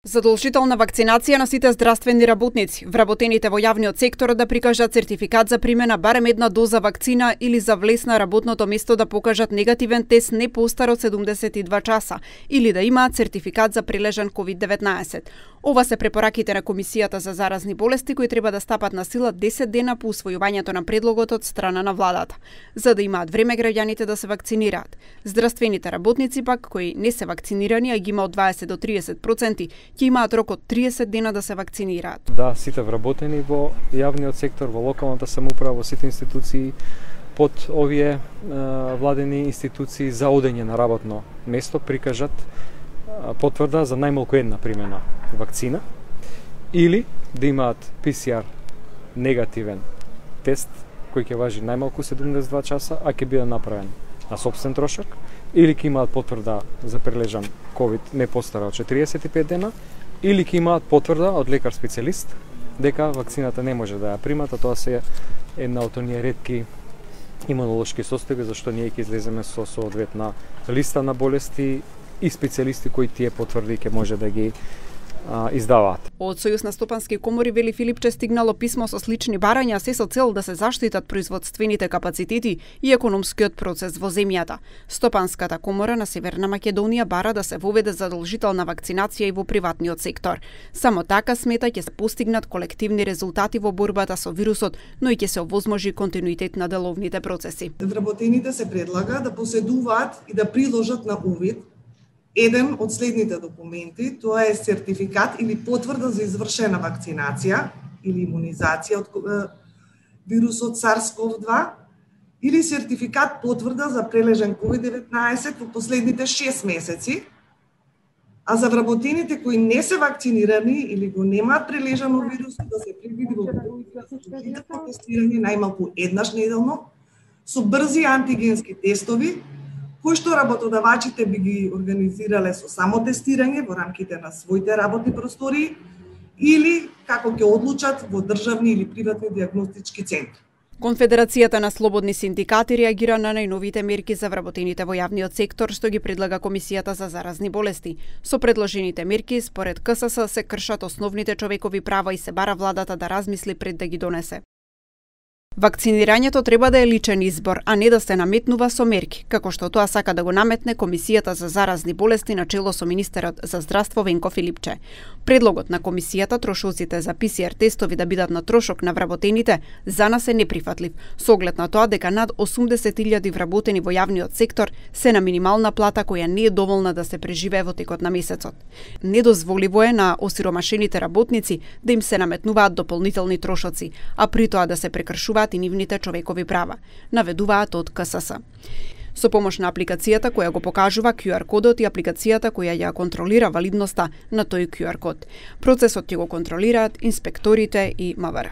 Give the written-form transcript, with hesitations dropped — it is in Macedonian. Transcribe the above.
Задолжителна вакцинација на сите здравствени работници, вработените во јавниот сектор да прикажат сертификат за примена барем една доза вакцина или за влез на работното место да покажат негативен тест не постар од 72 часа или да имаат сертификат за прилежан COVID-19. Ова се препораките на Комисијата за заразни болести кои треба да стапат на сила 10 дена по усвојувањето на предлогот од страна на владата, за да имаат време граѓаните да се вакцинираат. Здравствените работници пак кои не се вакцинирани, а ги има од 20 до 30%, ќе имаат рок од 30 дена да се вакцинираат. Да, сите вработени во јавниот сектор, во локалната самоуправа, во сите институции под овие владени институции за одење на работно место прикажат потврда за најмалку една примена вакцина или да имаат PCR негативен тест кој ќе важи најмалку 72 часа, а ќе биде направен на сопствен трошок, или ќе имаат потврда за прележан COVID не постара од 45 дена, или ќе имаат потврда од лекар специјалист дека вакцината не може да ја примат, а тоа се една од оние ретки имунолошки состојби зашто ние ќе излеземе со соодветна листа на болести и специјалисти кои тие потврди ќе може да ги издаваат. Од Сојуз на стопански комори вели Филипче стигнало писмо со слични барања се со цел да се заштитат производствените капацитети и економскиот процес во земјата. Стопанската комора на Северна Македонија бара да се воведе задолжителна вакцинација и во приватниот сектор. Само така смета ќе се постигнат колективни резултати во борбата со вирусот, но и ќе се овозможи континуитет на деловните процеси. Вработените се предлага да поседуваат и да приложат на увид еден од следните документи, тоа е сертификат или потврда за извршена вакцинација или имунизација од вирусот SARS-CoV-2 или сертификат потврда за прележан COVID-19 во последните 6 месеци, а за вработените кои не се вакцинирани или го немаат прележано вирусот да се предвиди во тестирање најмалку еднаш неделно со брзи антигенски тестови кои што работодавачите би ги организирале со само тестирање во рамките на своите работни простории или како ќе одлучат во државни или приватни дијагностички центри. Конфедерацијата на слободни синдикати реагира на најновите мерки за вработените во јавниот сектор што ги предлага Комисијата за заразни болести. Со предложените мерки, според КСС, се кршат основните човекови права и се бара владата да размисли пред да ги донесе. Вакцинирањето треба да е личен избор, а не да се наметнува со мерки, како што тоа сака да го наметне Комисијата за заразни болести на чело со министерот за здравство Венко Филипче. Предлогот на Комисијата трошоците за PCR тестови да бидат на трошок на вработените за нас е неприфатлив, со оглед на тоа дека над 80.000 вработени во јавниот сектор се на минимална плата која не е доволна да се преживее во текот на месецот. Недозволиво е на осиромашените работници да им се наметнуваат дополнителни трошоци, а при тоа да се прекршуваат и нивните човекови права, наведуваат од КСС. Со помош на апликацијата која го покажува QR кодот и апликацијата која ја контролира валидноста на тој QR код. Процесот ќе го контролираат инспекторите и МВР.